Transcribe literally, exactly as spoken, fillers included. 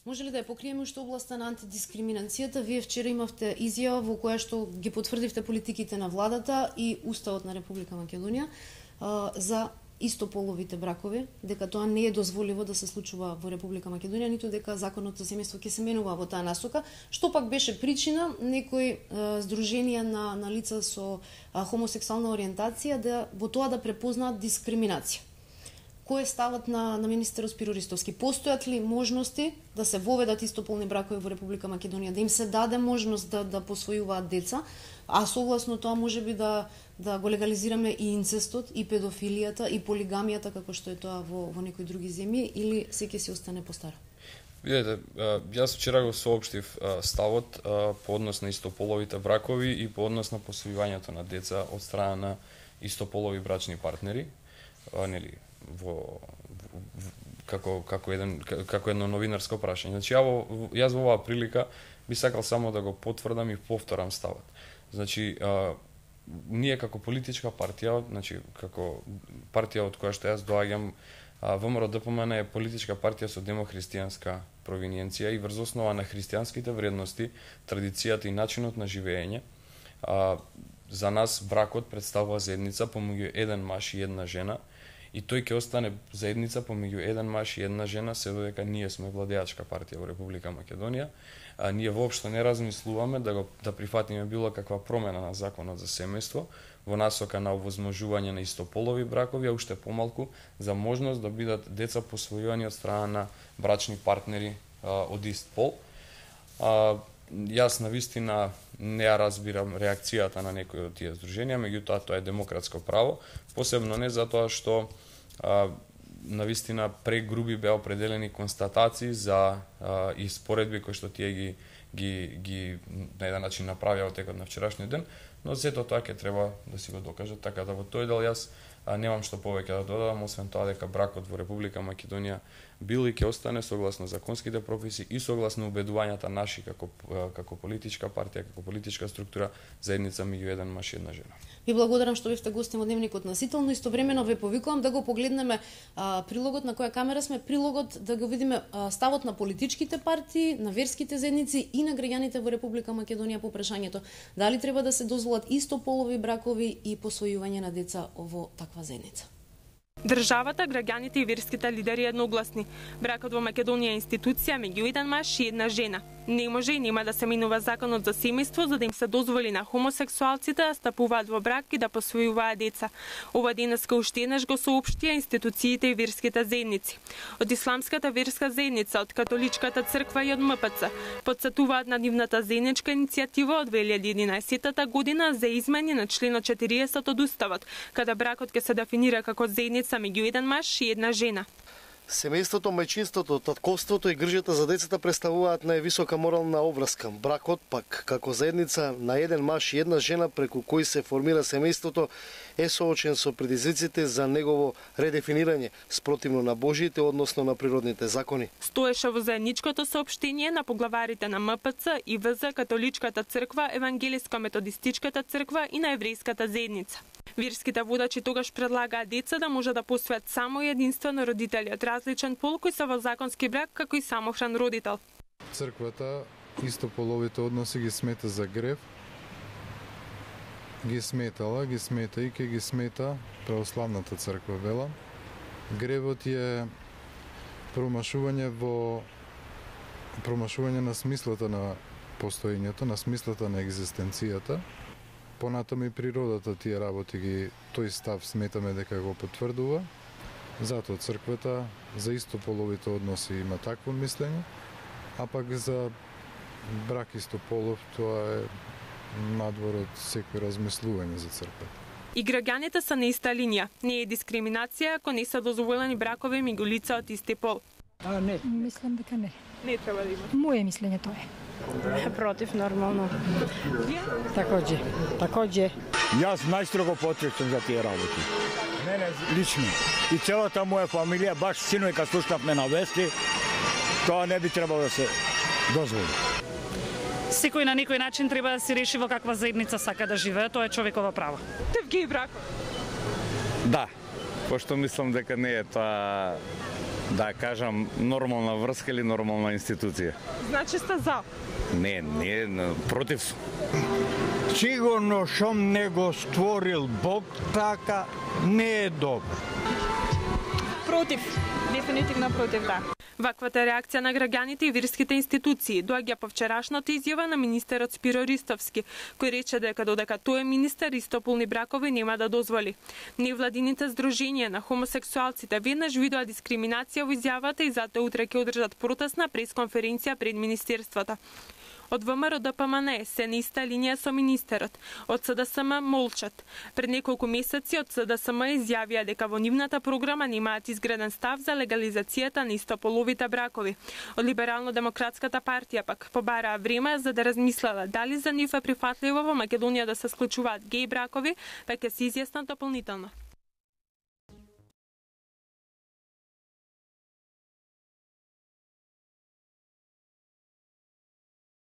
Може ли да ја покриеме уште областа на антидискриминацијата? Вие вчера имавте изјава во која што ги потврдивте политиките на владата и Уставот на Република Македонија а, за истополовите бракови, дека тоа не е дозволиво да се случува во Република Македонија, ниту дека законот за семејство ќе се менува во таа насока, што пак беше причина некои а, здруженија на, на лица со а, хомосексуална ориентација да во тоа да препознаат дискриминација. Кој е ставот на, на министерот Спиро Ристовски? Постојат ли можности да се воведат истополни бракови во Република Македонија, да им се даде можност да, да посвојуваат деца, а согласно тоа можеби да, да го легализираме и инцестот, и педофилијата, и полигамијата, како што е тоа во, во некои други земји, или се ќе си остане по старо? Видете, јас вчера го соопштив ставот по однос на истополовите бракови и по однос на посвојувањето на деца од страна на истополови брачни партнери, нели, во, во како како еден како едно новинарско прашање. Значи ја во, јас во оваа прилика би сакал само да го потврдам и повторам ставот. Значи а, ние како политичка партија, значи како партија од која што јас доаѓам, ВМРО Д П М Н е политичка партија со демохристијанска провиниенција и врз основа на христијанските вредности, традицијата и начинот на живење, а, за нас бракот представува заедница помеѓу еден маж и една жена, и тој ќе остане заедница помеѓу еден маж и една жена, се додека ние сме владеачка партија во Република Македонија. А, ние воопшто не размислуваме да го да прифатиме било каква промена на законот за семејство во насока на овозможување на истополови бракови, а уште помалку за можност да бидат деца посвојувани од страна на брачни партнери а, од ист пол. А, јас навистина не ја разбирам реакцијата на некои од тие здруженија, меѓутоа тоа е демократско право, посебно не затоа што а, навистина прегруби беа определени констатации за а, и споредби кои што тие ги ги ги на еден начин направија во текот на вчерашниот ден, но сето тоа ќе треба да си го докажат, така да во тој дел јас а, немам што повеќе да додадам, освен тоа дека бракот во Република Македонија бил и ќе остане согласно законските прописи и согласно убедувањата наши како како политичка партија, како политичка структура, заедница меѓу еден маж и една жена. Ви благодарам што бевте гости во Дневникот Насително. Истовремено ве повикувам да го погледнеме а, прилогот на која камера сме, прилогот да го видиме а, ставот на политичките партии, на верските заедници и на граѓаните во Република Македонија по прашањето дали треба да се дозволат истополови бракови и посвојување на деца во таква заедница. Државата, граѓаните и верските лидери едногласни. Бракот во Македонија е институција меѓу еден маж и една жена. Не може и нема да се минува законот за семејство за да им се дозволи на хомосексуалците да стапуваат во брак и да посвојуваат деца. Ова денеска уште еднаш го соопштија институциите и верските заедници. Од исламската верска заедница, од католичката црква и од М П Ц потсетуваат на нивната заедничка иницијатива од две илјади и единаесетта година за измени на членот четириесет од Уставот, каде бракот ќе се дефинира како заедница меѓу еден маж и една жена. Семејството, мајчинството, татковството и грижата за децата представуваат највисока морална обврска. Бракот пак, како заедница на еден маж и една жена преку кои се формира семејството, е соочен со предизвиците за негово редефинирање, спротивно на Божиите, односно на природните закони. Стоеше во заедничкото соопштение на поглаварите на М П Ц и В З, католичката црква, евангелиско-методистичката црква и на еврејската заедница. Верските водачи тогаш предлагаат деца да може да посвојат само и единствено родители од различен пол кои се во законски брак како и самохран родител. Црквата истополовите односи ги смета за грев, ги сметала, ги смета и ке ги смета православната црква вела. Гревот е промашување во промашување на смислата на постоењето, на смислата на екзистенцијата. Понатаму и природата тие работи ги тој став сметаме дека го потврдува. Затоа црквата за истополовите односи има такво мислење, а пак за брак истополов тоа е надвор од секој размислување за црквата. И граѓаните се на иста линија. Не е дискриминација ако не се дозволени бракови меѓу лица од исти пол. А, не. Мислам дека не. Не треба да има. Моје мислење тоа е. Против, нормално. Такоđe, такоđe. Јас најстрого потребствам за тие работи. Мене лично. И целата моја фамилија, баш синој кога слушнавме на вести, тоа не би требало да се дозволи. Секој на некој начин треба да се реши во каква заедница сака да живее, тоа е човеково право. Тев геј бракот? Да, пошто мислам дека не е тоа Да кажам, нормална врска или нормална институција. Значи сте за? Не, не, против сум. Сигурно шом не го створил Бог така, не е добро. Против, дефинитивно против, да. Ваквата реакција на граѓаните и верските институции доаѓа по вчерашната изјава на министерот Спиро Ристовски, кој рече дека додека тој е министер, истополни бракови нема да дозволи. Невладините здруженија на хомосексуалците веднаш видоа дискриминација во изјавата и затоа утре ќе одржат протестна пресконференција пред министерството. Од ВМРО Д П М Н се на иста линија со министерот. Од С Д С М молчат. Пред неколку месеци од С Д С М изјавија дека во нивната програма немаат изграден став за легализацијата на истополовите бракови. Од Либерално-демократската партија пак побараа време за да размислела дали за нив е прифатливо во Македонија да се склучуваат геј бракови, па ќе се изјаснат дополнително.